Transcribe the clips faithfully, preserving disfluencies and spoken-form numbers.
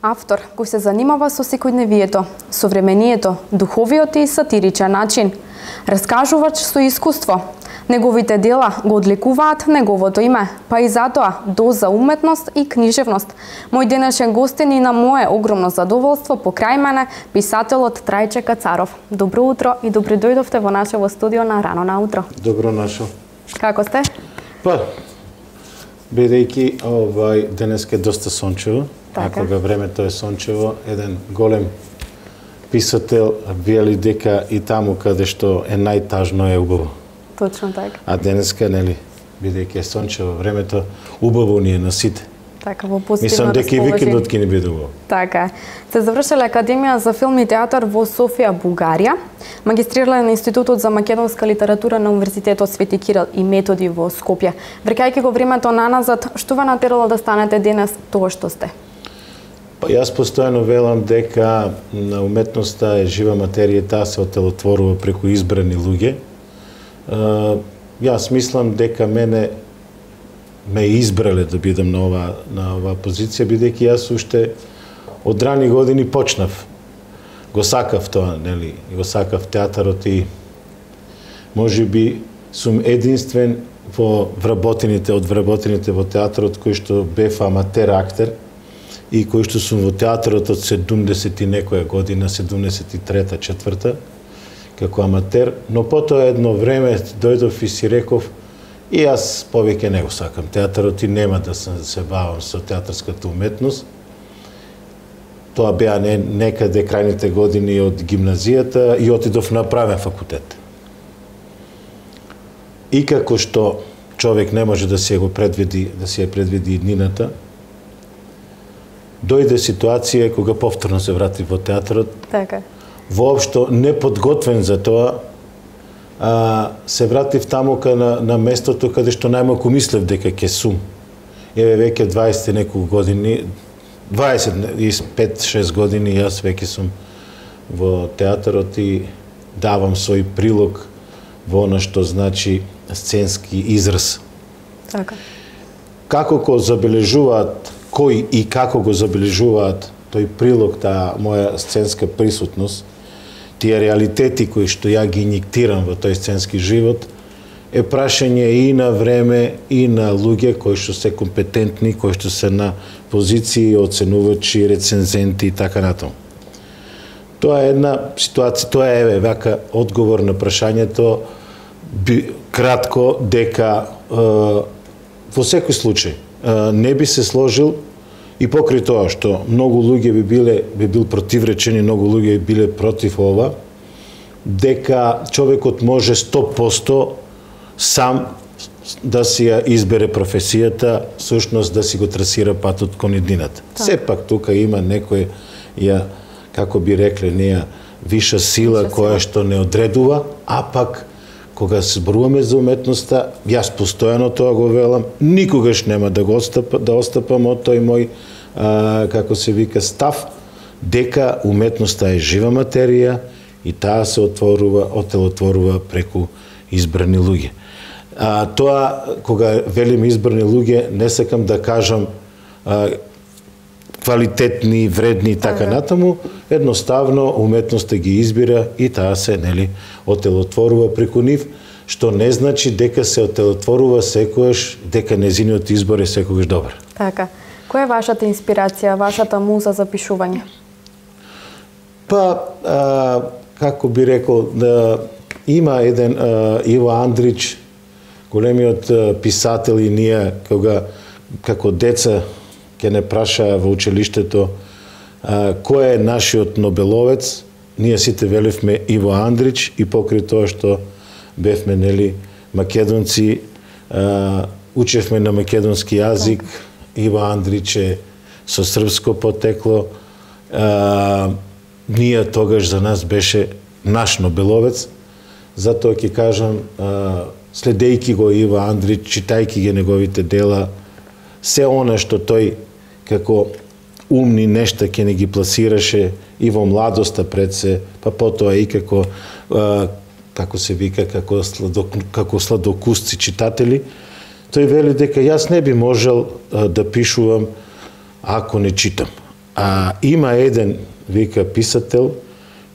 Автор кој се занимава со секојдневието, современието, духовиот и сатиричен начин. Раскажувач со искуство. Неговите дела го одликуваат неговото име, па и затоа доза уметност и книжевност. Мој денешен гостин и на мое огромно задоволство покрај мене писателот Трајче Кацаров. Добро утро и добри дојдовте во нашето студио на Рано наутро. Добро нашо. Како сте? Па, бидејќи овај денеска е доста сончево, а кога времето е сончево, еден голем писател вели дека и таму каде што е најтажно е убаво. Точно така. А денеска, нели, бидејќи е сончево времето, убаво ни е на сите. Така, во позитивно Мислам дека и викендот ќе ни биде убаво. Така. Се завршила Академија за филм и театар во Софија, Бугарија. Магистрирала на Институтот за македонска литература на Универзитетот Свети Кирил и Методи во Скопје. Враќајќи го времето наназад, што ве натерало да станете денес тоа што сте? Па јас постојано велам дека на уметноста е жива материја, таа се отелотворува преку избрани луѓе. Јас мислам дека мене ме избрале да бидам на ова на оваа позиција, бидејќи јас уште од рани години почнав. Го сакав тоа, нели, го сакав театарот и можеби сум единствен во вработените од вработените во театарот кој што бев аматер актер и кој што сум во театарот од седумдесет и некоја година, седумдесет и трета, четврта, како аматер, но потоа едно време дојдов и си реков и јас повеќе не го сакам театарот и нема да се, се бавам со театарската уметност. Тоа беа не, некаде крајните години од гимназијата и отидов на правен факултет. И како што човек не може да се го предвиди, да се ја предвиди иднината, дојде ситуација кога повторно се врати во театарот. Така. Воопшто неподготвен за тоа, а, се вратив таму на, на местото каде што најмалку мислев дека ќе сум. Еве веќе дваесет неколку години, дваесет и пет шест години јас веќе сум во театарот и давам свој прилог во она што значи сценски израз. Така. Како го забележуваат, кој и како го забележуваат тој прилог, таа моја сценска присутност, тие реалитети кои што ја ги инјектирам во тој сценски живот, е прашање и на време и на луѓе кои што се компетентни, кои што се на позиции, оценувачи, рецензенти и така натаму. Тоа е една ситуација, тоа е еве вака одговор на прашањето, би, кратко дека е, во секој случај е, не би се сложил и покрај тоа што многу луѓе би биле би бил противречени, многу луѓе би биле против ова, дека човекот може сто посто сам да си ја избере професијата, всушност да си го трасира патот кон иднината. Сепак тука има некој ја, како би рекле, неја виша сила Виша која сила. што не одредува, а пак кога се зборуваме за уметноста, јас постојано тоа го велам, никогаш нема да го остапам, да остапам од тој мој, а, како се вика, став, дека уметноста е жива материја и таа се отворува, отелотворува преку избрани луѓе. А, тоа, кога велим избрани луѓе, не сакам да кажам а, квалитетни, вредни и така ага. натаму, едноставно уметноста ги избира и таа се, нели, отелотворува преку нив, што не значи дека се отелотворува секојаш, дека незиниот избор е секогаш добар. Така. Која е вашата инспирација, вашата муза за пишување? Па, а, како би рекол, да има еден а, Иво Андрич, големиот а, писател и ние, кога како деца ќе не праша во училиштето а, кој е нашиот Нобеловец, ние сите велевме Иво Андрич и покрај тоа што бевме, нели, македонци, а, учевме на македонски јазик, Иво Андрич е со српско потекло, а, ние тогаш за нас беше наш Нобеловец, затоа ќе кажам, а, следејќи го Иво Андрич, читајќи ги неговите дела, се она што тој како умни нешта ќе не ги пласираше и во младоста пред се, па потоа и како, а, како се вика, како, сладок, како сладокусци читатели, тој вели дека јас не би можел а, да пишувам ако не читам. А има еден, вика, писател,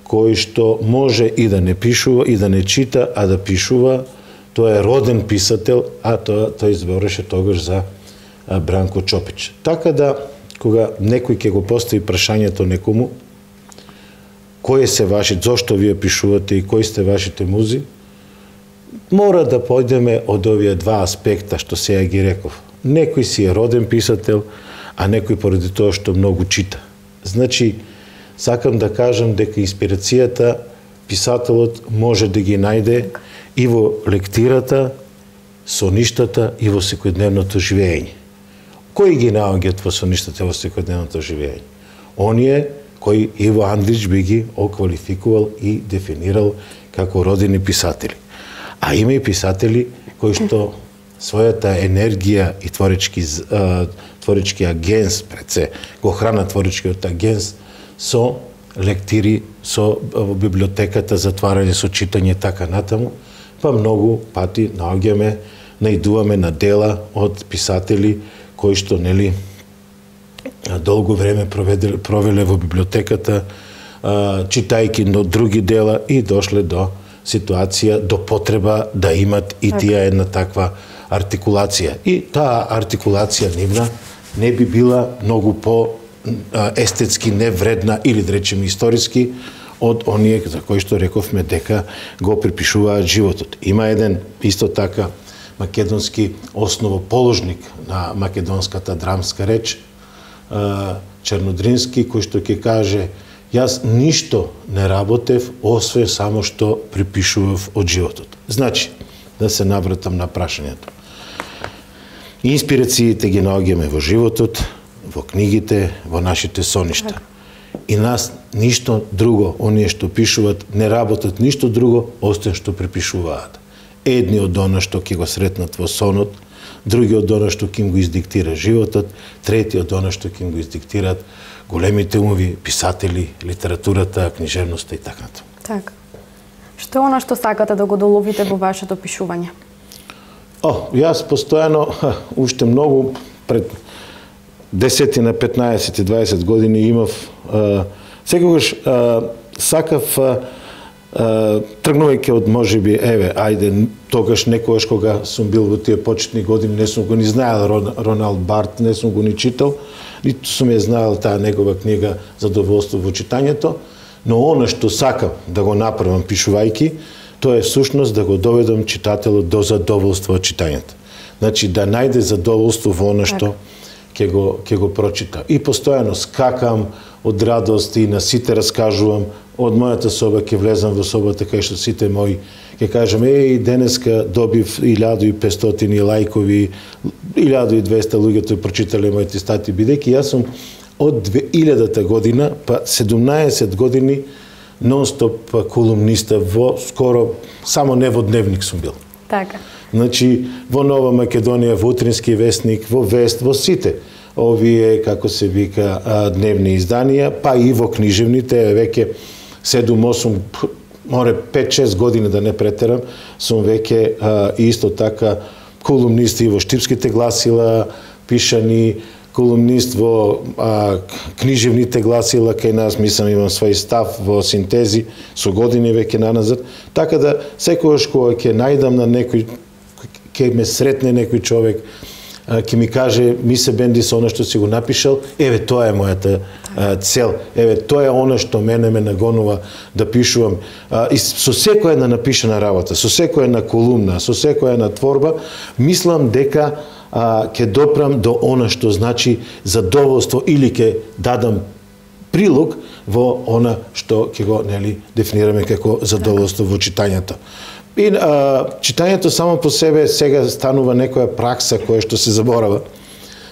кој што може и да не пишува, и да не чита, а да пишува. Тој е роден писател, а тој, тој збореше тогаш за Бранко Чопич. Така да, кога некој ќе го постави прашањето некому, кој се ваши, зошто вие пишувате и кои сте вашите музи, мора да појдеме од овие два аспекта што сега ги реков. Некој си е роден писател, а некој поради тоа што многу чита. Значи, сакам да кажам дека инспирацијата писателот може да ги најде и во лектирата, соништата и во секојдневното живење. Кои ги наоѓаат во соништата во секојдневното живење? Оние кои Иво Андрич би ги оквалификувал и дефинирал како родени писатели. А има и писатели кои што својата енергија и творечки, творечки агенс, пред се, го храна творечкиот агенс со лектири, со библиотеката, затварање со читање, така натаму, па многу пати наоѓаме, наидуваме на дела од писатели кои што, нели, долго време проведе, провеле во библиотеката, читајки до други дела и дошле до ситуација, до потреба да имат и тие една таква артикулација. И таа артикулација нивна не би била многу по естетски невредна или да речеме историски од оние за кои што рековме дека го припишуваат животот. Има еден исто така македонски основоположник на македонската драмска реч, Чернодрински, кој што ќе каже: јас ништо не работев, освен само што припишував од животот. Значи, да се навратам на прашањето. Инспирациите ги наоѓаме во животот, во книгите, во нашите соништа. И нас ништо друго, оние што пишуваат, не работат ништо друго, освен што припишуваат. Едни од она што ќе го сретнат во сонот, други од она што ќе им го издиктира животот, трети од она што ќе им го издиктираат големите умови, писатели, литературата, книжевноста и така натаму. Така. Што е она што сакате да го доловите во вашето пишување? О, јас постојано, уште многу пред десетина, петнаесет и дваесет години имав, а, секогаш а, сакав, а, тргнувајќи од можеби, еве, ајде, тогаш некогаш кога сум бил во тие почетни години, не сум го ни знаел Роналд Барт, не сум го ни читал, ниту сум ја знаел таа негова книга Задоволство во читањето, но она што сакам да го направам пишувајќи, тоа е сушност да го доведам читателот до задоволство од читањето. Значи да најде задоволство во она што ќе го ќе го прочита. И постојано скакам од радост и на сите раскажувам. Од мојата соба ќе влезам во собата кај што сите мои ќе кажам: еј, денеска добив илјада и петстотини лајкови, илјада и двесте луѓето прочитале моите стати, бидејќи јас сум од две илјадата година па седумнаесет години нон-стоп колумниста во скоро само не во Дневник сум бил. Така. Значи во Нова Македонија, во Утрински вестник, во Вест, во сите овие, како се вика, дневни изданија, па и во книжевните, веќе седум-осум, море пет-шест години да не претерам, сум веќе исто така колумнист и во Штипските гласила, пишани, колумнист во а, книжевните гласила кај нас, мислам имам свој став во Синтези, со години веќе наназад, така да секогаш кога ќе најдам на некој, ќе ме сретне некој човек, ќе ми каже: ми се бенди со она што си го напишал, еве тоа е мојата а, цел, еве тоа е она што мене ме нагонува да пишувам. А, и со секоја една напишана работа, со секоја една колумна, со секоја една творба, мислам дека а, ќе допрам до она што значи задоволство или ќе дадам прилог во она што ќе го, нели, дефинираме како задоволство во читањето. И а, читањето само по себе сега станува некоја пракса која што се заборава.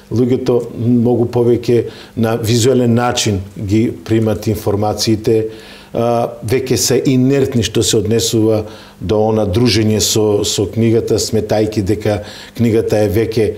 Луѓето многу повеќе на визуелен начин ги примат информациите, а, веќе се инертни што се однесува до она дружење со, со книгата, сметајки дека книгата е веќе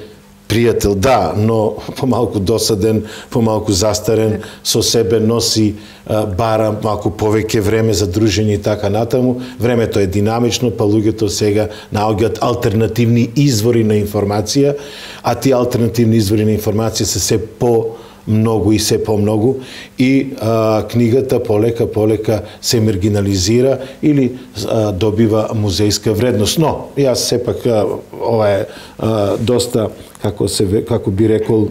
пријател, да, но помалку досаден, помалку застарен, со себе носи а, бара малку повеќе време за дружење и така натаму. Времето е динамично, па луѓето сега наоѓаат алтернативни извори на информација, а тие алтернативни извори на информација се се по многу и се помногу и а, книгата полека полека се маргинализира или а, добива музејска вредност. Но јас сепак а, ова е а, доста, како се како би рекол,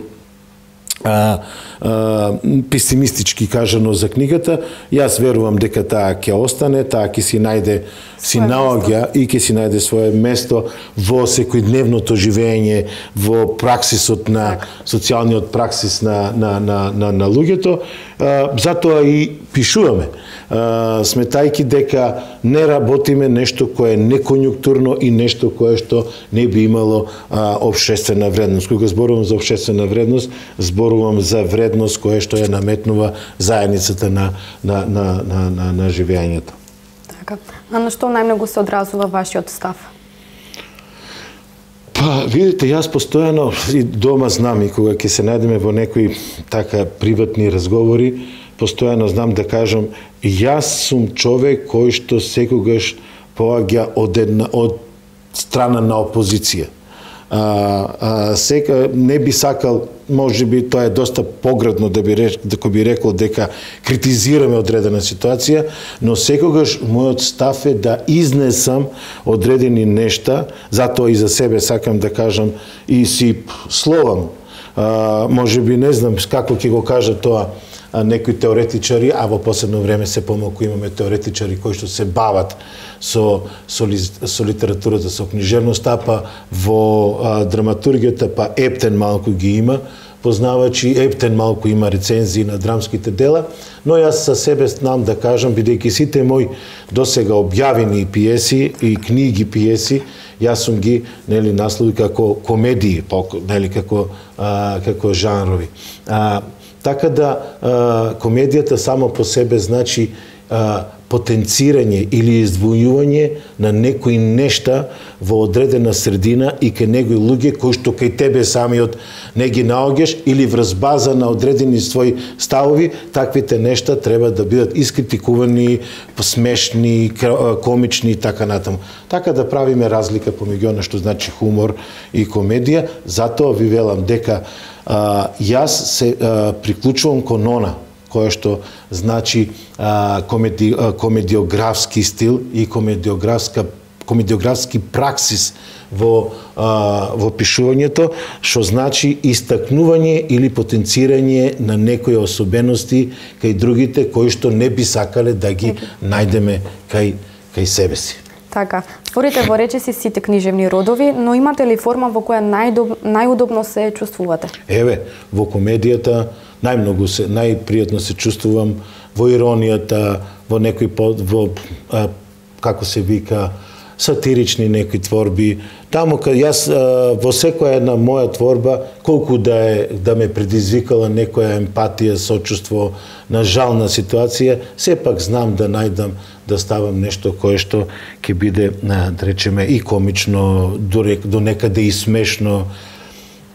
А, а, песимистички кажано за книгата. Јас верувам дека таа ќе остане, таа ќе си најде, си наоѓа и ќе си најде свое место во секојдневното живење, во праксисот на социјалниот праксис на на на на, на луѓето. А, затоа и пишуваме, а, сметајки дека не работиме нешто кое е неконјунктурно и нешто кое што не би имало а, општествена вредност. Кога зборувам за општествена вредност, зборувам за вредност која што ја наметнува заедницата на на на на на, на живењето. Така. А на што најмногу се одразува вашиот став? Па, видите, јас постојано и дома знам и кога ќе се најдеме во некои така приватни разговори, постојано знам да кажам, јас сум човек кој што секогаш поаѓа од една од страна на опозиција. А, а, сека не би сакал, може би тоа е доста поградно да би рек, дека би рекол дека критизираме одредена ситуација, но секогаш мојот став е да изнесам одредени нешта, затоа и за себе сакам да кажам и си словам. А, може би не знам како ќе го кажа тоа некои теоретичари, а во последно време се помалку имаме теоретичари кои што се бават со, со, со литературата, со книжевноста, па во а, драматургијата, па Ептен малку ги има, познавачи, Ептен малку има рецензии на драмските дела, но јас за себе знам да кажам, бидејќи сите мои досега објавени пиеси и книги пиеси, јас сум ги, нели, наслови како комедии, нели, како, а, како жанрови. А, Така да а, комедијата само по себе значи а, потенцирање или издвојување на некои нешта во одредена средина и кај некои луѓе кои што кај тебе самиот не ги наоѓаш или врз база на одредени своји ставови, таквите нешта треба да бидат искритикувани, смешни, комични и така натаму. Така да правиме разлика помеѓу она што значи хумор и комедија, затоа ви велам дека а, јас се а, приклучувам кон она која што значи а, комеди, а, комедиографски стил и комедиографска комедиографски праксис во а, во пишувањето, што значи истакнување или потенцирање на некои особености кај другите кои што не би сакале да ги најдеме кај кај себе си. Така, творите во речиси сите книжевни родови, но имате ли форма во која најдоб, најудобно се чувствувате? Еве, во комедијата најмногу се, најпријатно се чувствувам, во иронијата, во некои под, во, а, како се вика, сатирични некои творби. Таму кај јас а, во секоја една моја творба, колку да е да ме предизвикала некоја емпатија, сочувство на жална ситуација, сепак знам да најдам да ставам нешто кое што ќе биде, да речеме, и комично, до, до некаде и смешно.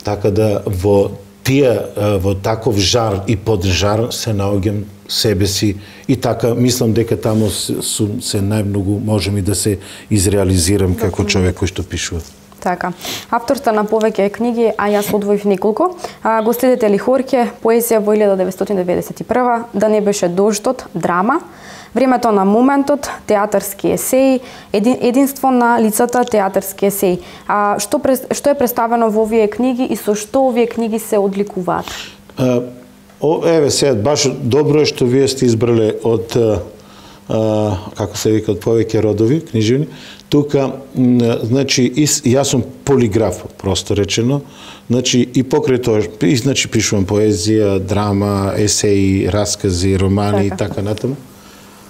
Така да во тие, во таков жар и поджар се наоѓам себе си и така мислам дека таму сум се најмногу можем и да се изреализирам како човек кој што пишува. Така. Автор сте на повеќе книги, а јас одвоив неколку. А, го следите ли Хорке, поезија во илјада деветстотини деветдесет и прва, Да не беше дождот, драма, Времето на моментот, театарски есеи, един, единство на лицата, театарски есеи. А, што, што е представено во овие книги и со што овие книги се одликуваат? А, о, еве сега, баш добро е што вие сте избрале од, а, како се вика, од повеќе родови книжевни. Тука, значи, јас сум полиграф, просто речено. Значи, и покрај тоа, и, значи, пишувам поезија, драма, есеи, раскази, романи и така натаму.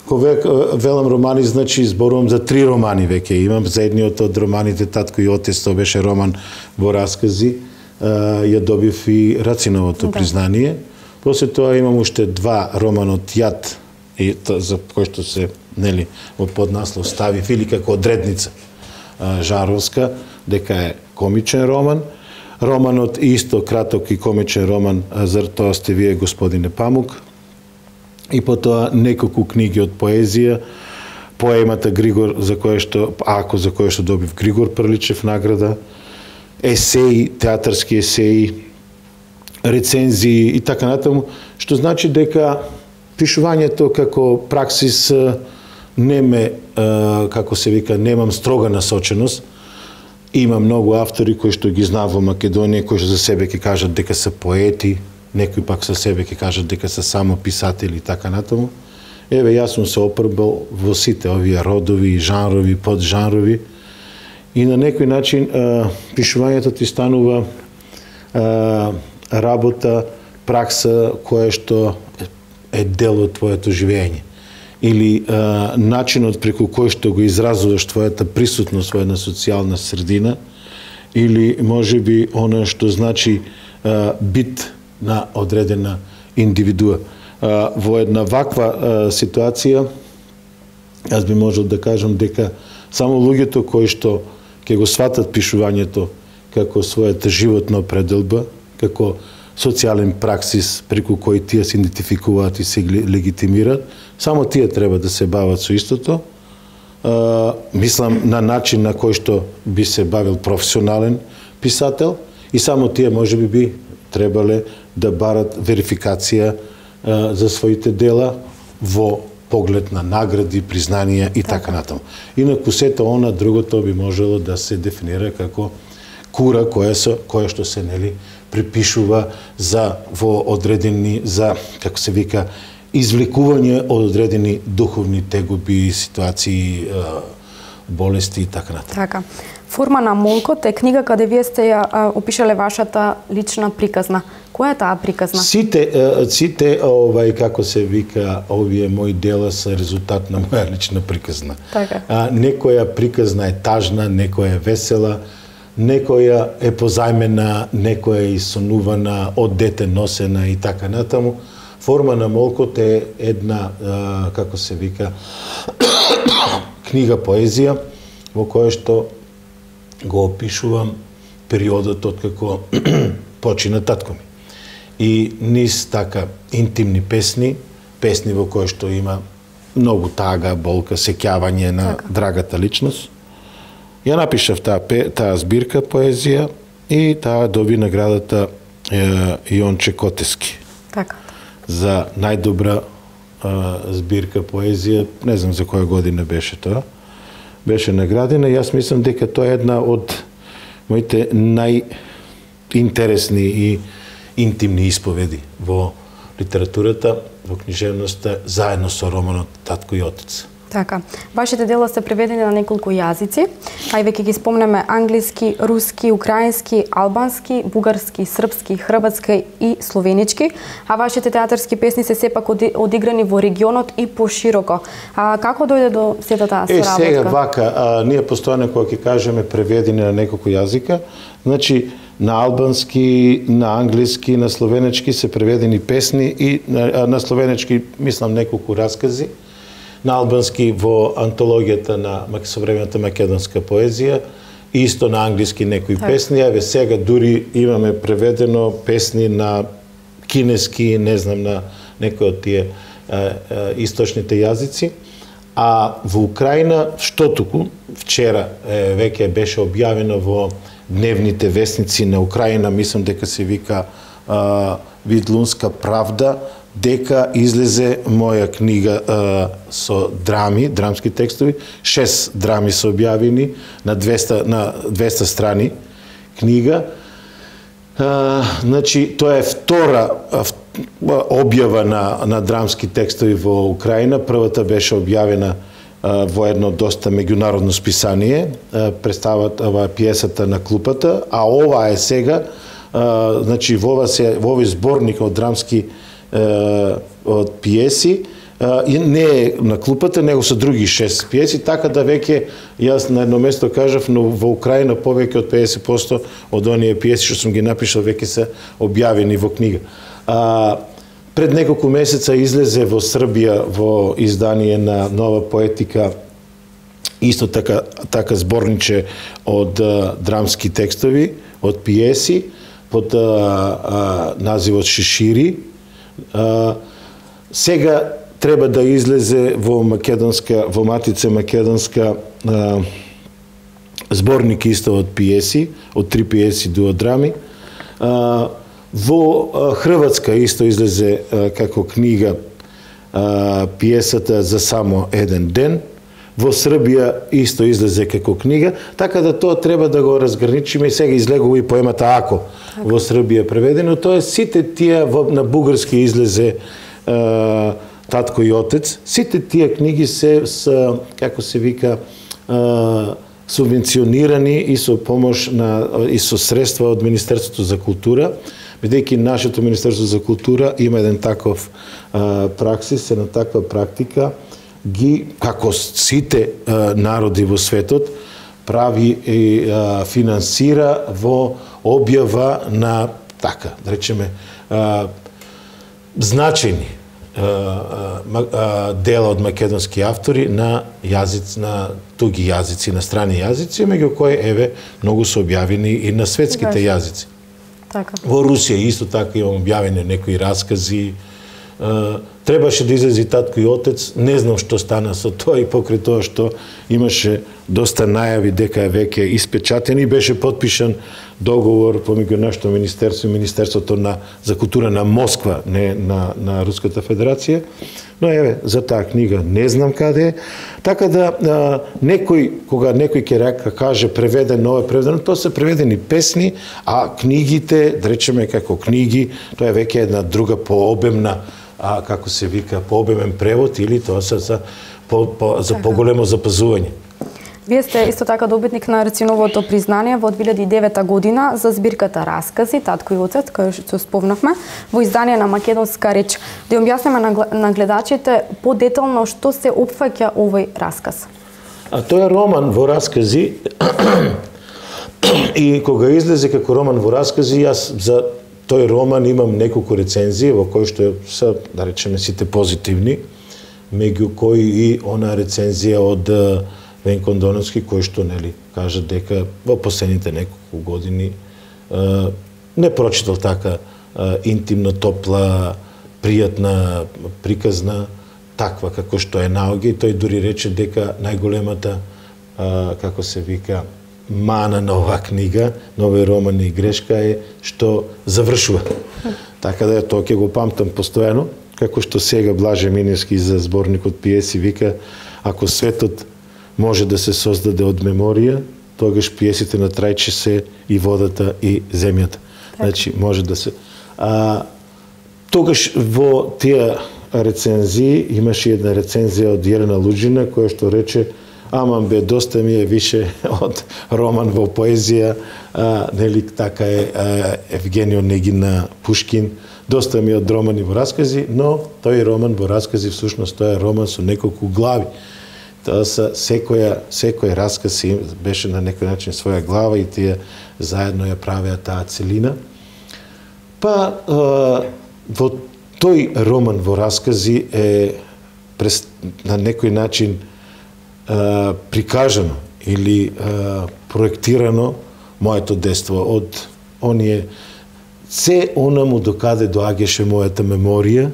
Кога велам романи, значи зборувам за три романи веќе имам. За едниот од романите Татко и Отец, тоа беше роман во раскази. Ја добив и Рациновото признание. После тоа имам уште два романот Јад, и за кој што се, нели, во поднаслов ставив или како одредница Жаровска, дека е комичен роман. Романот исто краток и комичен роман, за тоа сте вие, господине Памук. И потоа неколку книги од поезија, поемата Григор, за која што, ако за која што добив Григор Прличев награда, есеи, театарски есеи, рецензии и така натаму, што значи дека пишувањето како праксис не ме, како се вика, немам строга насоченост. Има многу автори кои што ги знам во Македонија, кои што за себе ќе кажат дека се поети, некои пак за себе ќе кажат дека се само писатели и така натаму. Еве, јас сум се опробал во сите овие родови, жанрови, поджанрови и на некој начин пишувањето ти станува работа, пракса која што е дел од твоето живење. Или а, начинот преку кој што го изразуваш твојата присутност во една социјална средина, или може би она што значи а, бит на одредена индивидуа. А, во една ваква а, ситуација, јас би можел да кажам дека само луѓето кои што ќе го сватат пишувањето како својата животна определба, како социјален праксис преку кој тие се идентификуваат и се легитимираат, само тие треба да се бават со истото. А, мислам на начин на кој што би се бавил професионален писател и само тие може би би требале да барат верификација а, за своите дела во поглед на награди, признанија и така натаму. Инаку сето она другото би можело да се дефинира како кура која, со, која што се нели припишува за во одредени, за, како се вика, извлекување од одредени духовни тегоби, ситуации, болести и така натаму. Така. Форма на молкот е книга каде вие сте ја опишале вашата лична приказна. Која е таа приказна? Сите, сите овај, како се вика, овие мои дела се резултат на моја лична приказна. Така. А, некоја приказна е тажна, некоја е весела, некоја е позајмена, некоја е исонувана, од дете носена и така натаму. Форма на молкот е една, а, како се вика, книга поезија, во која што го опишувам периодот од како почина татко ми. И низ така интимни песни, песни во кои што има многу тага, болка, сеќавање на така. Драгата личност. Ја напишав таа, таа збирка поезија и таа доби наградата е, Јонче Котески. Така. За најдобра а, збирка поезија, не знам за која година беше тоа. Беше наградена и јас мислам дека тоа е една од моите најинтересни и интимни исповеди во литературата, во книжевноста, заедно со романот Татко и Отец. Така. Вашите дела се преведени на неколку јазици, а и веќе ги спомнеме англиски, руски, украински, албански, бугарски, српски, хрватски и словенички, а вашите театарски песни се сепак одиграни во регионот и пошироко. А како дојде до сета таа соработка? Е, сега вака, а, ние постојано кога ќе кажеме преведени на неколку јазика, значи на албански, на англиски, на словенички се преведени песни и на, на словенички мислам неколку раскази, на албански во антологијата на современата македонска поезија, исто на англиски некои так. Песни, еве сега дури имаме преведено песни на кинески, не знам, на некои од тие а, а, источните јазици. А во Украина, што туку, вчера е, веќе беше објавено во дневните вестници на Украина, мислам дека се вика а, Видлунска правда, дека излезе моја книга а, со драми, драмски текстови, шест драми се објавени на двеста, на двеста страни книга. А, значи, тоа е втора објава на, на драмски текстови во Украина. Првата беше објавена а, во едно доста меѓународно списание, а, представат ова пиесата на клупата, а ова е сега, а, значи во овој зборник од драмски од пиеси, и не е на клупата, него се други шест пиеси, така да веќе, јас на едно место кажав, но во Украина повеќе од педесет проценти од оние пиеси што сум ги напишал веќе се објавени во книга. А, пред неколку месеца излезе во Србија во издание на Нова поетика исто така, така зборниче од а, драмски текстови, од пиеси, под а, а, називот Шишири. Uh, сега треба да излезе во македонска, во Матица македонска uh, зборник исто од пиеси, од три пиеси до драми. Uh, Во Хрватска исто излезе како книга пиесата За само еден ден. Во Србија исто излезе како книга, така да тоа треба да го разграничиме. Сега излегува и поемата Ако во Србија преведено. Тоа е сите тие на бугарски излезе е, Татко и Отец. Сите тие книги се с, како се вика, е, субвенционирани и со помош на и со средства од Министерството за култура, бидејќи нашето Министерство за култура има еден таков е, праксис, една таква практика, ги, како сите а, народи во светот, прави и а, финансира во објава на, така, да речеме, а, значајни а, а, дела од македонски автори на јазици, на туги јазици, на страни јазици, меѓу кои, еве, многу се објавени и на светските јазици. Така. Во Русија исто така имам објавени некои раскази. Uh, требаше да излезе Татко и Отец, не знам што стана со тоа и покрај тоа што имаше доста најави дека е веќе испечатен и беше потпишан договор помеѓу нашето министерство и Министерството на за култура на Москва, не на на Руската Федерација. Но еве, за таа книга не знам каде е. Така да а, некој кога некој ќе каже преведено, ова е преведено, тоа се преведени песни, а книгите, да речеме како книги, тоа е веќе една друга пообемна, а како се вика, пообемен превод или тоа се за по, по, за поголемо запазување. Вие сте исто така добитник на Рациновото признание во две илјади и девета година за збирката Раскази Татко и Отец, која што спомнавме, во издание на македонска реч. Да објасниме на, на гледачите подетално што се опфаќа овој расказ. А тоа е роман во раскази и кога излезе како роман во раскази, јас за тој роман имам неколку рецензии во кои што се, да речеме, сите позитивни, меѓу кои и она рецензија од Венко Андоновски, кој што, нели, кажа дека во последните неколку години е, не прочитал така е, интимно, топла, пријатна, приказна, таква како што е наоѓа, и тој дури рече дека најголемата, е, како се вика, мана на оваа книга, на овој роман и грешка е што завршува. Така да тоа ќе го памтам постојано, како што сега Блаже Миневски за зборникот пиеси вика, ако светот може да се создаде од меморија, тогаш пиесите на Трајче се и водата и земјата. Значи, може да се... А, тогаш во тие рецензии имаше една рецензија од Јелена Луџина, која што рече, аман бе, доста ми е више од роман во поезија, а, нели така е а, Евгенио Негина Пушкин, доста ми е од романи во раскази, но тој роман во раскази всушност тоа е роман со неколку глави. Тоа са секоја секој расказ беше на некој начин своја глава и тие заедно ја правеа таа целина. Па во тој роман во раскази е на некој начин прикажано или проектирано моето детство од оние се онаму докаде доаѓаше мојата меморија,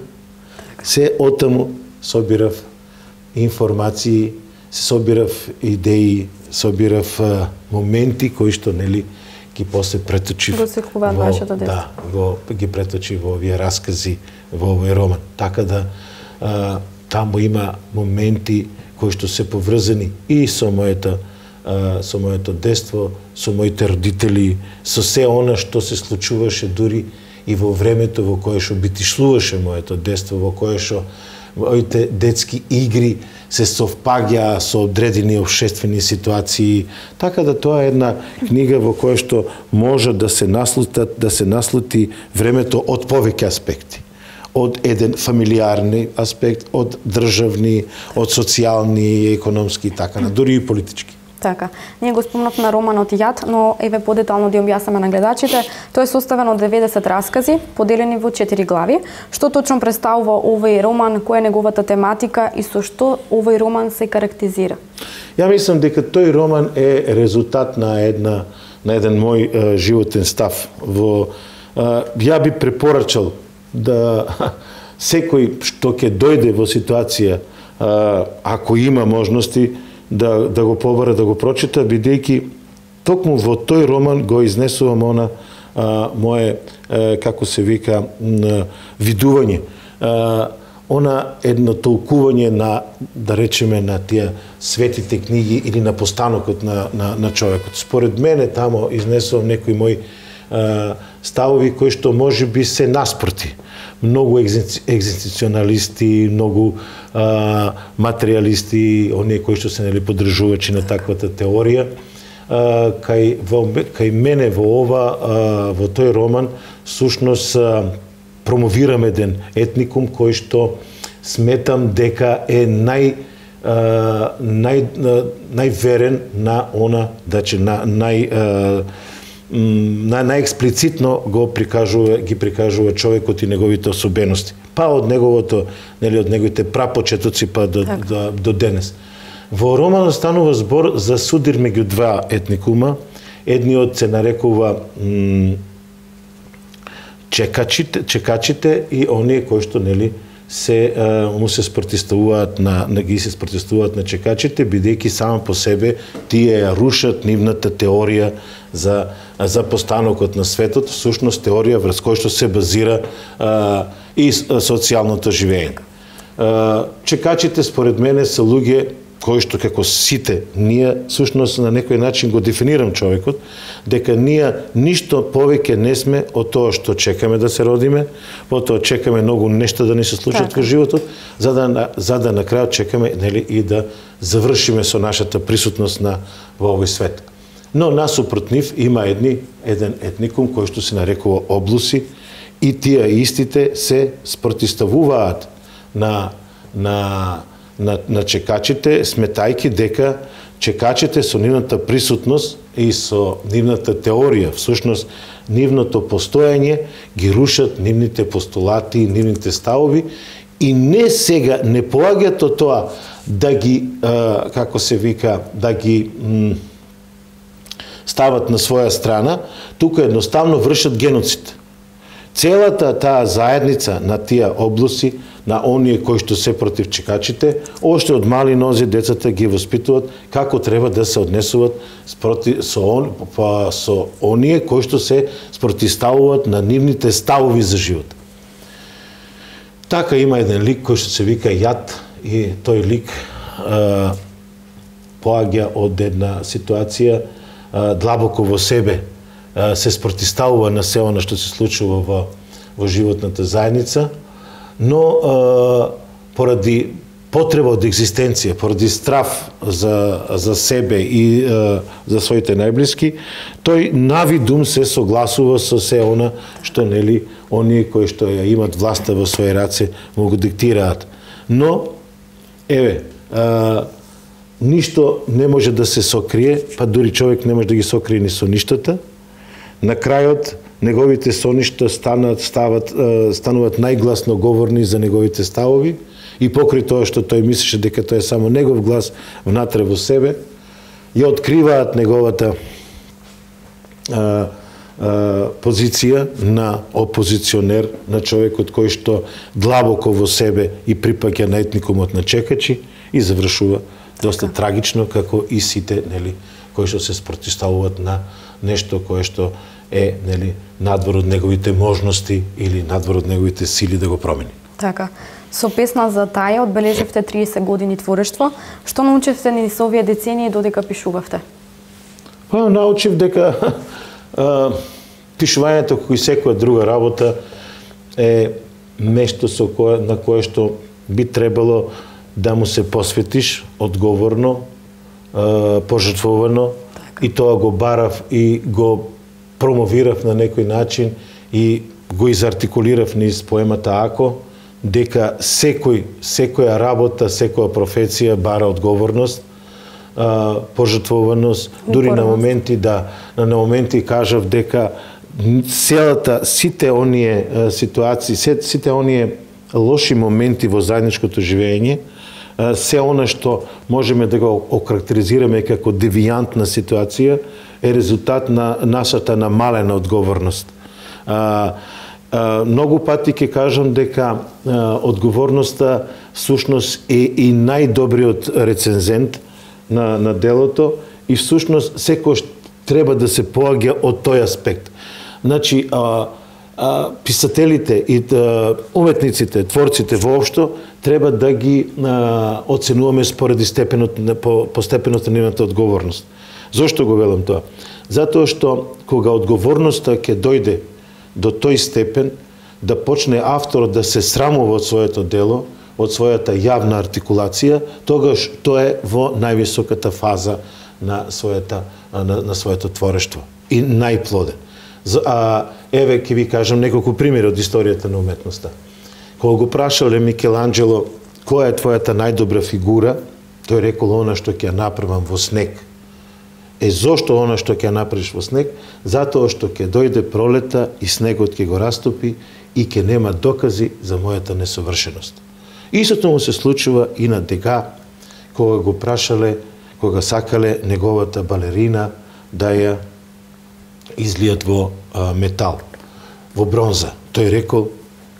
се отаму собирав информации, се собирав идеи, собирав а, моменти кои што, нели, ги после преточив го секуваат вашето детство. Да, го ги преточив во овие раскази, во овој роман. Така да а, таму има моменти кои што се поврзани и со моето а, со моето детство, со моите родители, со се она што се случуваше дури и во времето во кое што битишлуваше моето детство, во кое што моите детски игри се совпаѓа со одредени општествени ситуации, така да тоа е една книга во која што може да се наслутат, да се наслути времето од повеќе аспекти. Од еден фамилиарни аспект, од државни, од социјални, економски и така, дури и политички. Така. Ние го спомнавме романот Јад, но еве подетално да објаснеме на гледачите. Тој е составен од деветдесет раскази, поделени во четири глави. Што точно представува овој роман, која е неговата тематика и со што овој роман се карактеризира? Ја мислам дека тој роман е резултат на една на еден мој е, животен став. Во е, ја би препорачал да секој што ќе дојде во ситуација, е, ако има можности, да, да го побара, да го прочита, бидејќи токму во тој роман го изнесувам она а, мое, а, како се вика, видување. А, она едно толкување на, да речеме, на тие светите книги или на постанокот на, на, на човекот. Според мене тамо изнесувам некои мои а, ставови кои што може би се наспроти. Многу екзистенцијалисти, многу а, материјалисти, оние кои што се нели поддржувачи на таквата теорија, а, кај, во, кај мене во ова, а, во тој роман, сушност промовирам еден етникум кој што сметам дека е нај а, нај најверен на она, значи на нај а, на најексплицитно го прикажува ги прикажува човекот и неговите особености. Па од неговото, нели од неговите прапочетоци па до так. до, до денес. Во романот станува збор за судир меѓу два етникума. Едниот се нарекува чекачите, чекачите и оние кои што нели се а, му се спротивставуваат на, на ги се спротивставуваат на чекачите, бидејќи само по себе тие ја рушат нивната теорија за за постанокот на светот, всушност теорија врз која што се базира а, и социјалното живење. А, чекачите според мене се луѓе кои што како сите ние всушност на некој начин го дефинирам човекот, дека ние ништо повеќе не сме од тоа што чекаме да се родиме, потоа чекаме многу нешта да ни се случат така. Во животот, за да за да на крајот чекаме нели и да завршиме со нашата присутност на во овој свет. Но насупрот нив има едни еден етникум кој што се нарекува облуси и тие истите се спротивставуваат на на на, на чекачите, сметајки дека чекачите со нивната присутност и со нивната теорија, всушност нивното постоење ги рушат нивните постулати, нивните ставови и не сега не поаѓаат од тоа да ги а, како се вика, да ги м, стават на своја страна, тука едноставно вршат геноцид. Целата таа заедница на тие облуси, на оние кои што се против чекачите, още од мали нози децата ги воспитуваат како треба да се однесуваат спроти, со, он, па, со оние кои што се спротивставуваат на нивните ставови за живот. Така има еден лик кој што се вика Јад и тој лик а, поаѓа од една ситуација а, длабоко во себе, а, се спротивставува на се она што се случува во, во животната заедница, но а, поради потреба од екзистенција, поради страв за, за себе и а, за своите најблиски, тој навидум се согласува со се она што нели оние кои што ја имат власта во своји раце му го диктираат. Но еве, а, ништо не може да се сокрие, па дури човек не може да ги сокрие ни со ништата. На крајот неговите соништа станат, стават, стануваат најгласно говорни за неговите ставови и покрај тоа што тој мислеше дека тоа е само негов глас внатре во себе, ја откриваат неговата а, а, позиција на опозиционер, на човекот кој што длабоко во себе и припаѓа на етникумот на чекачи и завршува доста така. Трагично, како и сите нели кои што се спротивставуваат на нешто кое што е нели надвор од неговите можности или надвор од неговите сили да го промени. Така. Со песна за таја одбележивте триесет години творештво. Што научивте низ овие децении додека пишувавте? Па научив дека а, пишувањето кој секоја друга работа е нешто со кое на кое што би требало да му се посветиш одговорно, а, пожртвовано, така. И тоа го барав и го промовирав на некој начин и го изартикулирав низ поемата Ако, дека секој, секоја работа, секоја професија бара одговорност, а, пожртвованост, дури на моменти да на моменти кажав дека целата сите оние а, ситуации, сите оние лоши моменти во заедничкото живење, а, се она што можеме да го окарактеризираме како девијантна ситуација, е резултат на нашата намалена одговорност. А, а, многу пати ќе кажам дека а, одговорноста всушност е и најдобриот рецензент на, на делото и всушност секој треба да се поаѓа од тој аспект. Значи, а, а, писателите и а, уметниците, творците воопшто, треба да ги а, оценуваме спореди степенот, по, по степенот на нивната одговорност. Зошто го велам тоа? Затоа што кога одговорноста ќе дојде до тој степен да почне авторот да се срамува од своето дело, од својата јавна артикулација, тогаш тоа е во највисоката фаза на својата на, на своето творештво и најплоден. А, еве ќе ви кажам неколку примери од историјата на уметноста. Кога го прашале Микеланджело која е твојата најдобра фигура, тој рекол она што ќе направам во снег. Е зошто она што ќе направиш во снег? Затоа што ќе дојде пролета и снегот ќе го растопи и ќе нема докази за мојата несовршеност. Истото му се случува и на Дега, кога го прашале, кога сакале неговата балерина да ја излијат во а, метал, во бронза. Тој рекол,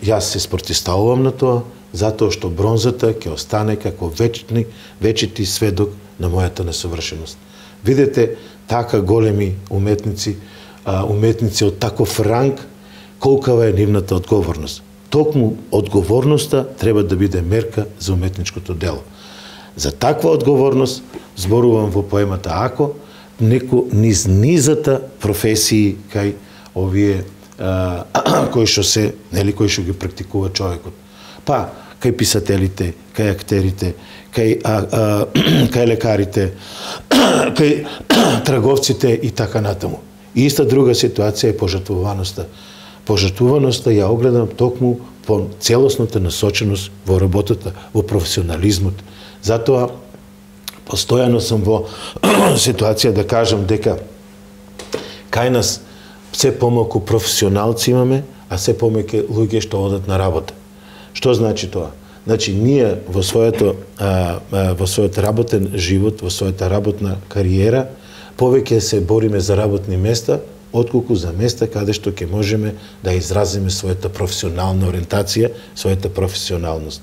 јас се спротивставувам на тоа, затоа што бронзата ќе остане како вечни, вечити сведок на мојата несовршеност. Видете, така големи уметници, а, уметници од таков ранг, колкава е нивната одговорност. Токму одговорноста треба да биде мерка за уметничкото дело. За таква одговорност зборувам во поемата Ако, неко низ низата професии кај овие а, кои што се, нели, кои што ги практикува човекот. Па, кај писателите, кај актерите, кај, а, а, кај лекарите, кај трговците и така натаму. И иста друга ситуација е пожртвуваноста. Пожртвуваноста ја огледам токму по целосната насоченост во работата, во професионализмот. Затоа постојано сум во ситуација да кажам дека кај нас се помалку професионалци имаме, а се помеќе луѓе што одат на работа. Што значи тоа? Значи ние во своето а, а, во својот работен живот, во својата работна кариера, повеќе се бориме за работни места, отколку за места каде што ќе можеме да изразиме својата професионална ориентација, својата професионалност.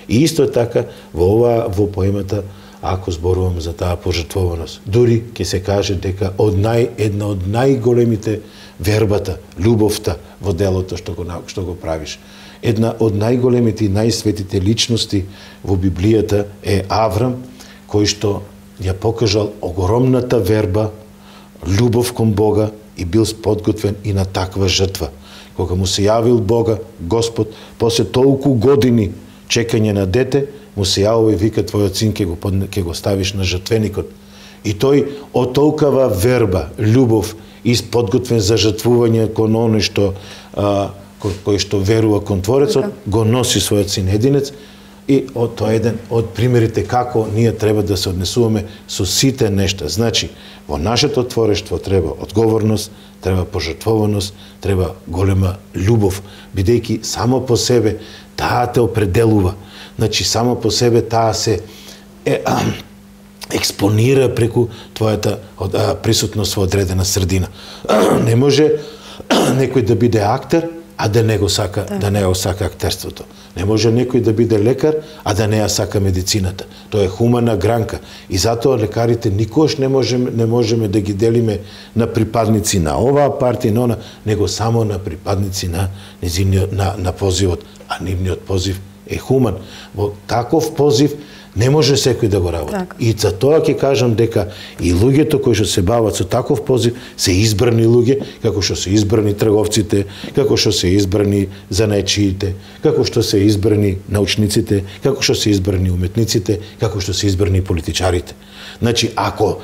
И исто така во ова во поемата Ако зборувам за таа пожртвованост. Дури ќе се каже дека од нај една од најголемите вербата, љубовта во делото што го што го правиш. Една од најголемите и најсветите личности во Библијата е Аврам, кој што ја покажал огромната верба, љубов кон Бога и бил подготвен и на таква жртва. Кога му се јавил Бога, Господ, после толку години чекање на дете, му се јавува и вика твојот син ќе го ќе го ставиш на жртвеникот. И тој од толкава верба, љубов и подготвен за жртвување кон оној што а, кој што верува кон Творецот, го носи својот син единец. И од тоа еден од примерите како ние треба да се однесуваме со сите нешта. Значи, во нашето творештво треба одговорност, треба пожртвованост, треба голема љубов, бидејќи само по себе таа те определува. Значи, само по себе таа се е, а, експонира преку твојата а, присутност во одредена средина. Не може некој да биде актер, а да не го сака, да, да не го сака актерството. Не може некој да биде лекар, а да не ја сака медицината. Тоа е хумана гранка. И затоа лекарите никош не можеме, не можеме да ги делиме на припадници на оваа партија, на она, него само на припадници на низиниот, на, на позивот. А нивниот позив е хуман. Во таков позив не може секој да го работи. Так. И за тоа ќе кажам дека и луѓето кои што се бават со таков позив се избрани луѓе, како што се избрани трговците, како што се избрани занаечиите, како што се избрани научниците, како што се избрани уметниците, како што се избрани политичарите. Значи, ако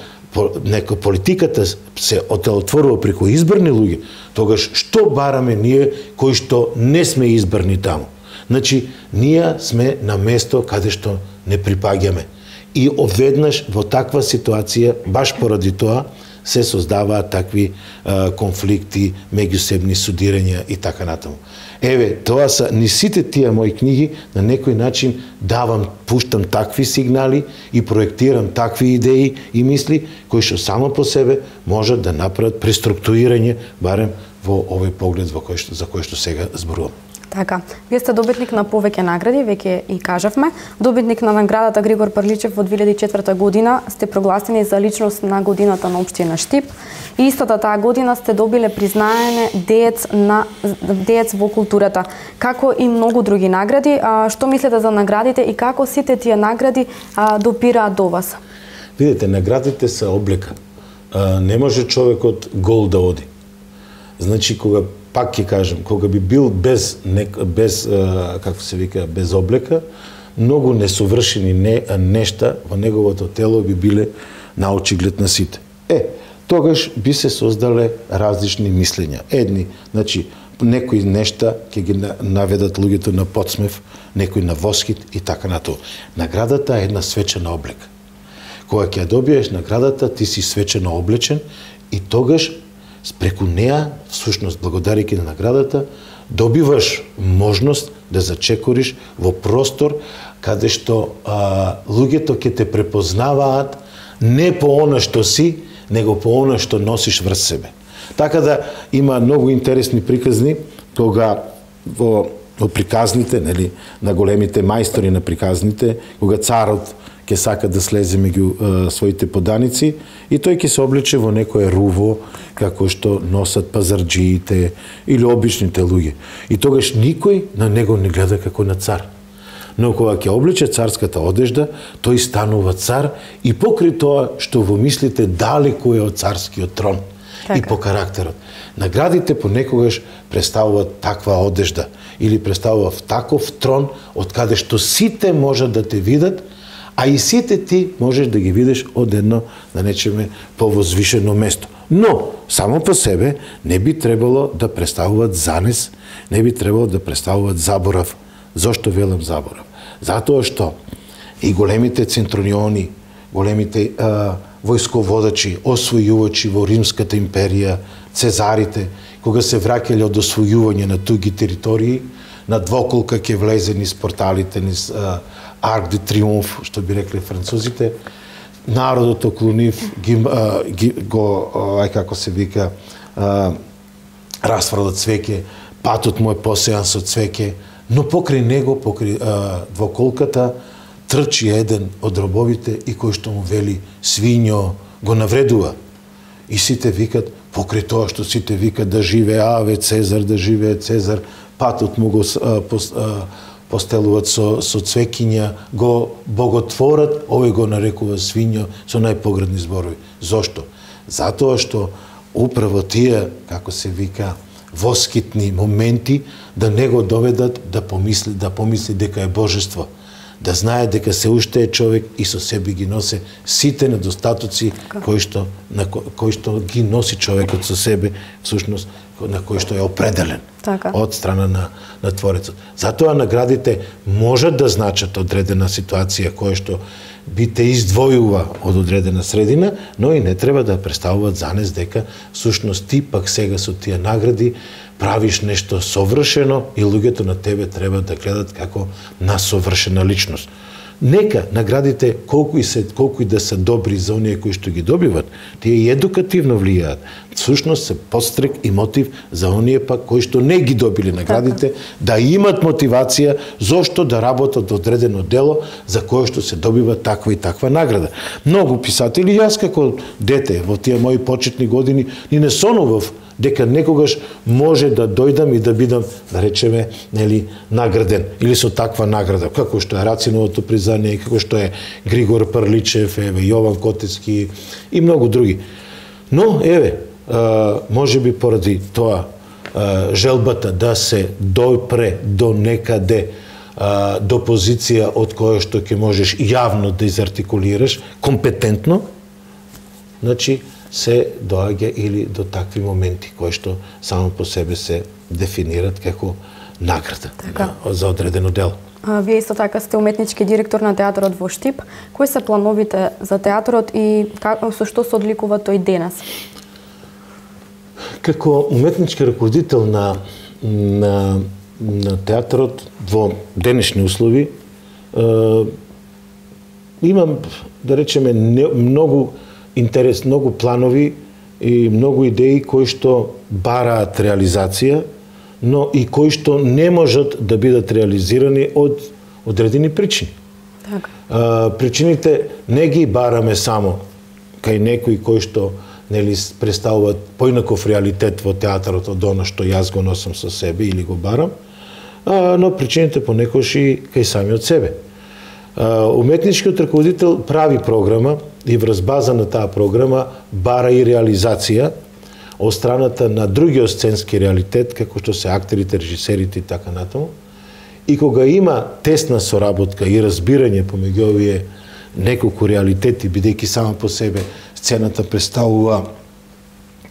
нека политиката се отелотворува преку избрани луѓе, тогаш што бараме ние кои што не сме избрани таму? Значи, ние сме на место каде што не припаѓаме. И одведнаш во таква ситуација, баш поради тоа, се создаваат такви а, конфликти, меѓусебни судирања и така натаму. Еве, тоа са ни сите тие мои книги, на некој начин давам, пуштам такви сигнали и проектирам такви идеи и мисли, кои што само по себе можат да направат преструктурирање, барем во овој поглед во кој што, за кој што сега зборувам. Така, вие сте добитник на повеќе награди, веќе и кажавме. Добитник на наградата Григор Прличев во две илјади и четврта година сте прогласени за личност на годината на општина Штип. И истата таа година сте добиле признаене деец на деец во културата, како и многу други награди. А, што мислите за наградите и како сите тие награди а, допираат до вас? Видите, наградите се облека. А, не може човекот гол да оди. Значи, кога пак ќе кажам, кога би бил без, без како се вика, без облека, многу несовршени не, нешта во неговото тело би биле на очиглед на сите. Е, тогаш би се создале различни мислења. Едни, значи, некои нешта ќе ги наведат луѓето на подсмев, некои на восхит и така на тоа. Наградата е една свечена облека. Кога ќе ја добиеш наградата, ти си свечено облечен и тогаш преку неа, всушност благодарејќи на наградата, добиваш можност да зачекориш во простор каде што а, луѓето ќе те препознаваат не по она што си, него по она што носиш врз себе. Така да има многу интересни приказни кога во, во приказните, нели, на големите мајстори на приказните, кога царот ќе сака да слезе меѓу е, своите поданици и тој ќе се облече во некое руво како што носат пазарџиите или обичните луѓе. И тогаш никој на него не гледа како на цар. Но кога ќе облече царската одежда, тој станува цар и покрај тоа што во мислите далеку е од царскиот трон. Така. И по карактерот. Наградите понекогаш представуваат таква одежда или представуваат таков трон од каде што сите можат да те видат, а и сите ти можеш да ги видиш од едно, да речеме, повозвишено место. Но, само по себе, не би требало да представуваат занес, не би требало да представуваат заборав. Зошто велам заборав? Затоа што и големите центуриони, големите а, војсководачи, освојувачи во Римската империја, цезарите, кога се враќале од освојување на туги територии, на двоколка ќе влезе низ порталите, низ а, Арк де Триумф, што би рекле французите, народот околу нив ги, а, ги, го, ај како се вика, а, расфрлат цвеќе, патот му е посејан со цвеќе, но покрај него, покрај а, двоколката, трчи еден од робовите и кој што му вели свињо го навредува. И сите викат, покрај тоа што сите викат да живее Аве Цезар, да живее Цезар, патот му го а, пос, а, постелуваат со, со цвекиња, го боготворат, овој го нарекува свињо со најпоградни зборови. Зошто? Затоа што управо тие, како се вика, воскитни моменти да не го доведат да помисли, да помисли дека е божество, да знае дека се уште е човек и со себе ги носи сите недостатоци кои што на кои што ги носи човекот со себе, всушност на кој што е определен така. Од страна на, на Творецот. Затоа наградите можат да значат одредена ситуација која што би те издвојува од одредена средина, но и не треба да представуваат занес дека всушност ти пак сега со тие награди правиш нешто совршено и луѓето на тебе треба да гледат како на совршена личност. Нека наградите колку и се колку и да се добри за оние кои што ги добиват, тие и едукативно влијаат. Всушност се подстрек и мотив за оние пак кои што не ги добили наградите, така. Да имат мотивација зошто да работат одредено дело за кое што се добива таква и таква награда. Многу писатели, јас како дете во тие мои почетни години, ни не сонував дека некогаш може да дојдам и да бидам, да речеме, нели, награден или со таква награда, како што е Рациновото признание, како што е Григор Прличев, еве Јован Котецки и многу други. Но еве, може би поради тоа желбата да се допре до некаде до позиција од која што ќе можеш јавно да изартикулираш компетентно, значи се доаѓа или до такви моменти кои што само по себе се дефинират како награда така. За одредено дело. А, вие исто така сте уметнички директор на театарот во Штип. Кои се плановите за театарот и как, со што се одликува тој денес? Како уметнички раководител на, на, на театарот во денешни услови, е, имам, да речеме, не, многу интерес, многу планови и многу идеи кои што бараат реализација, но и кои што не можат да бидат реализирани од одредени причини. Така. А, причините не ги бараме само кај некои кои што нели представуваат поинаков реалитет во театарот од она што јас го носам со себе или го барам, а, но причините понекогаш и кај самиот себе. А, уметничкиот раководител прави програма и врз база на таа програма бара и реализација од страната на другиот сценски реалитет, како што се актерите, режисерите и така натаму. И кога има тесна соработка и разбирање помеѓу овие неколку реалитети, бидејќи сама по себе сцената представува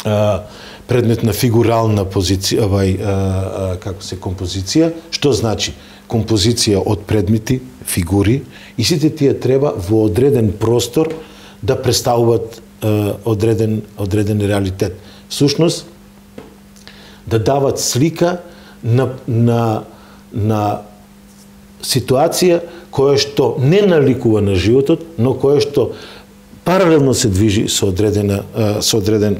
а, предмет на фигурална позиција, овај, а, а, како се композиција, што значи композиција од предмети, фигури, и сите тие треба во одреден простор да представуваат а, одреден, одреден реалитет. Всушност, да дават слика на, на, на ситуација која што не наликува на животот, но која што паралелно се движи со одредена, со одреден,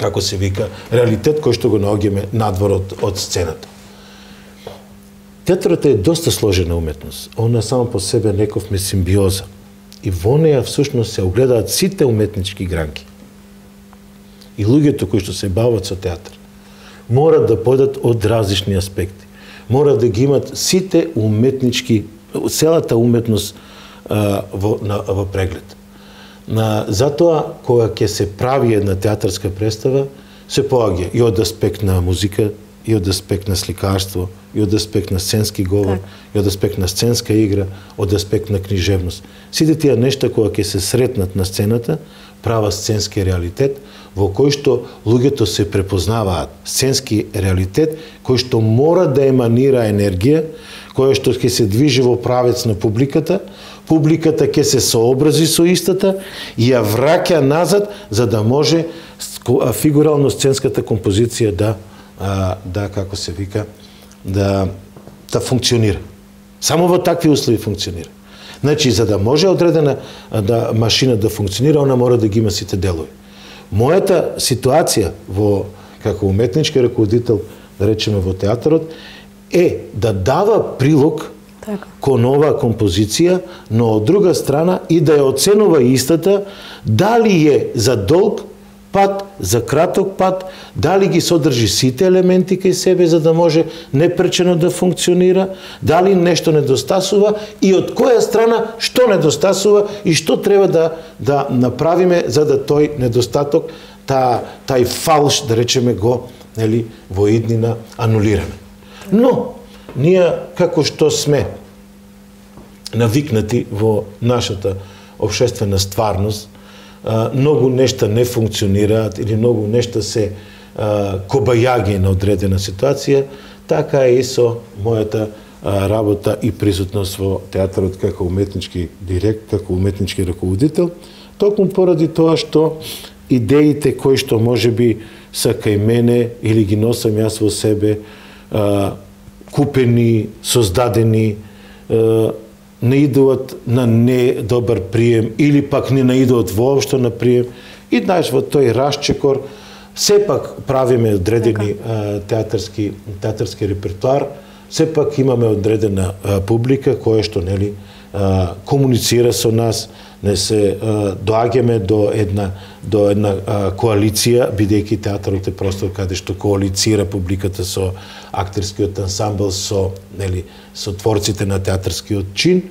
како се вика, реалитет кој што го наоѓаме надвор од, од сцената. Театрот е доста сложена уметност. Она само по себе неков ме симбиоза. И во неја всушност се огледаат сите уметнички гранки. И луѓето кои што се бават со театар мора да појдат од различни аспекти. Мора да ги имат сите уметнички, целата уметност а, во, на, во преглед. На, затоа, кога ќе се прави една театарска представа, се поаѓа и од аспект на музика, и од аспект на сликарство, и од аспект на сценски говор, так. и од аспект на сценска игра, од аспект на книжевност. Сите тие нешта кога ќе се сретнат на сцената, права сценски реалитет, во кој што луѓето се препознаваат. Сценски реалитет, кој што мора да еманира енергија, кој што ќе се движи во правец на публиката, публиката ќе се сообрази со истата и ја враќа назад, за да може фигурално сценската композиција да, да како се вика, да, да функционира. Само во такви услови функционира. Значи, за да може одредена да, машина да функционира, она мора да ги има сите делови. Мојата ситуација во како уметнички раководител, да речеме во театарот, е да дава прилог така. Кон оваа композиција, но од друга страна и да ја оценува истата, дали е за долг пат, за краток пат, дали ги содржи сите елементи кај себе за да може непречено да функционира, дали нешто недостасува и од која страна што недостасува и што треба да да направиме за да тој недостаток, та тај фалш, да речеме, го, нели, во иднина анулираме. Но ние како што сме навикнати во нашата општествена стварност, многу нешта не функционираат или многу нешта се кобајаги на одредена ситуација, така е и со мојата работа и присутност во театарот како уметнички директ, како уметнички раководител, токму поради тоа што идеите кои што можеби са кај мене или ги носам јас во себе, купени, создадени, не идуват на недобар прием или пак не наидуват воопшто на прием и знаеш во тој расчекор сепак правиме одредени а, театарски театарски репертоар, сепак имаме одредена а, публика која што нели а, комуницира со нас, не се а, доаѓаме до една до една а, коалиција, бидејќи театарот е простор каде што коалицира публиката со актерскиот ансамбл, со нели со творците на театарскиот чин,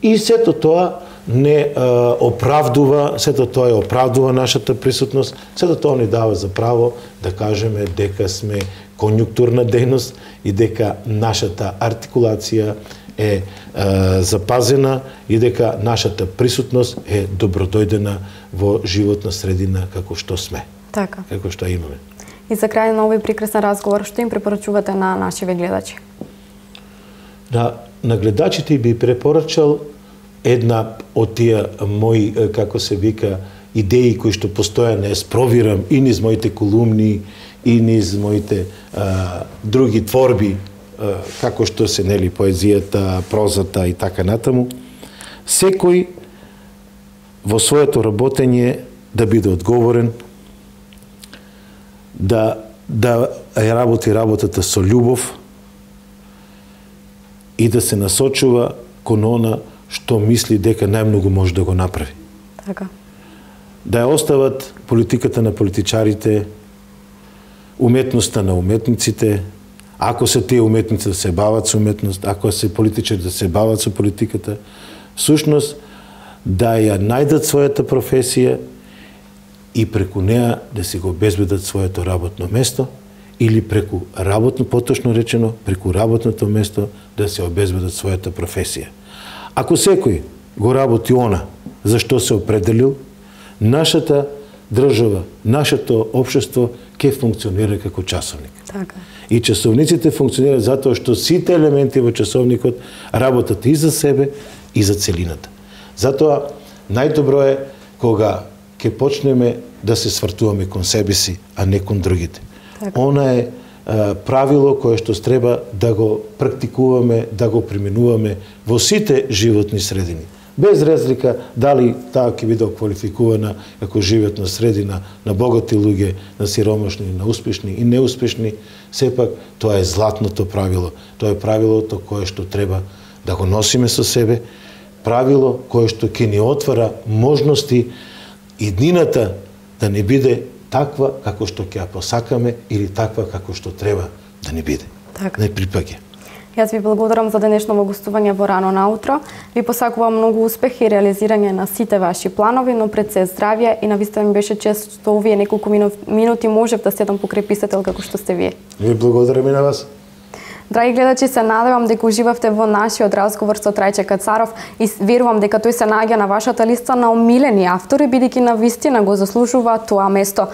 и сето тоа не а, оправдува, сето тоа е оправдува нашата присутност, сето тоа ни дава за право да кажеме дека сме конјунктурна дејност и дека нашата артикулација е а, запазена и дека нашата присутност е добродојдена во животна средина како што сме. Така. Како што имаме. И за крај на овој прекрасен разговор, што им препорачувате на нашите гледачи? На, на гледачите би препорачал една од тие мои, како се вика, идеи кои што постојано спровирам и низ моите колумни, и низ моите а, други творби, а, како што се нели поезијата, прозата и така натаму. Секој во своето работење да биде одговорен, да да работи работата со љубов и да се насочува кон она што мисли дека најмногу може да го направи. Така. Да ја остават политиката на политичарите, уметноста на уметниците, ако се тие уметници да се бават со уметност, ако се политичари да се бават со политиката, всушност да ја најдат својата професија и преку неа да си го обезбедат своето работно место или преку работно, поточно речено, преку работното место да се обезбедат својата професија. Ако секој го работи она за што се определил, нашата држава, нашето општество ќе функционира како часовник. Така. И часовниците функционираат затоа што сите елементи во часовникот работат и за себе и за целината. Затоа најдобро е кога ќе почнеме да се свртуваме кон себе си, а не кон другите. Така. Она е а, правило кое што треба да го практикуваме, да го применуваме во сите животни средини. Без разлика дали таа ќе биде квалификувана како животна средина на богати луѓе, на сиромашни, на успешни и неуспешни, сепак тоа е златното правило. Тоа е правилото кое што треба да го носиме со себе, правило кое што ќе ни отвара можности и днината да не биде таква како што ќе ја посакаме или таква како што треба да не биде. Така. Не припаѓа. Јас ви благодарам за денешното гостување во Рано наутро. Ви посакувам многу успех и реализирање на сите ваши планови, но пред се здравје и навистина ми беше чест што овие неколку минути можев да седам покрај писател како што сте вие. Ви благодарам и на вас. Драги гледачи, се надевам дека уживавте во нашиот разговор со Трајче Кацаров и верувам дека тој се наоѓа на вашата листа на омилени автори, бидејќи навистина го заслужува тоа место.